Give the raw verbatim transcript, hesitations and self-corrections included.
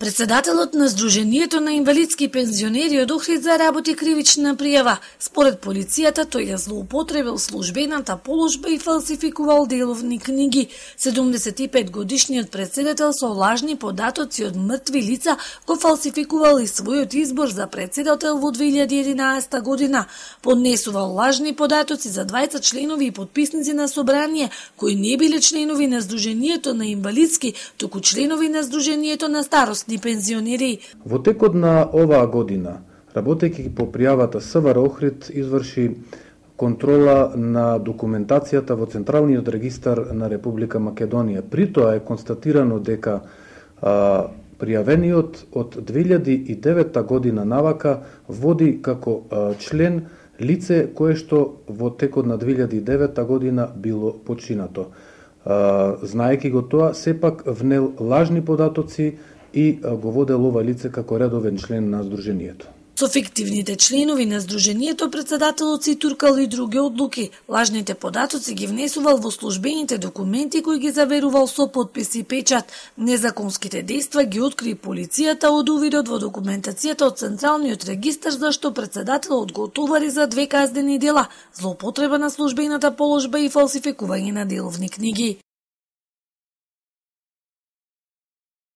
Председателот на Сдруженијето на инвалидски пензионери од Охрид заработи кривична пријава. Според полицијата, тој ја злоупотребил службената положба и фалсификувал деловни книги. седумдесет и пет годишниот председател со лажни податоци од мртви лица го фалсификувал и својот избор за председател во две илјади и единаесета година. Поднесувал лажни податоци за дваесет членови и подписници на собрание, кои не биле членови на Сдруженијето на инвалидски, туку членови на Сдруженијето на старосни пензионери. Во текот на оваа година, работејќи по пријавата СВР Охрид изврши контрола на документацијата во Централниот регистар на Република Македонија. При тоа е констатирано дека а, пријавениот од две илјади и девета година навака води како а, член лице кое што во текот на две илјади и девета година било починато. А, знаејќи го тоа, сепак внел лажни податоци и го водел ова лице како редовен член на Сдруженијето. Со фиктивните членови на Сдруженијето председателот си туркал и други одлуки. Лажните податоци ги внесувал во службените документи кои ги заверувал со подпис и печат. Незаконските дејства ги откри полицијата од увидот во документацијата од Централниот регистар, зашто председателот го товари за две казнени дела: злоупотреба на службената положба и фалсификување на деловни книги.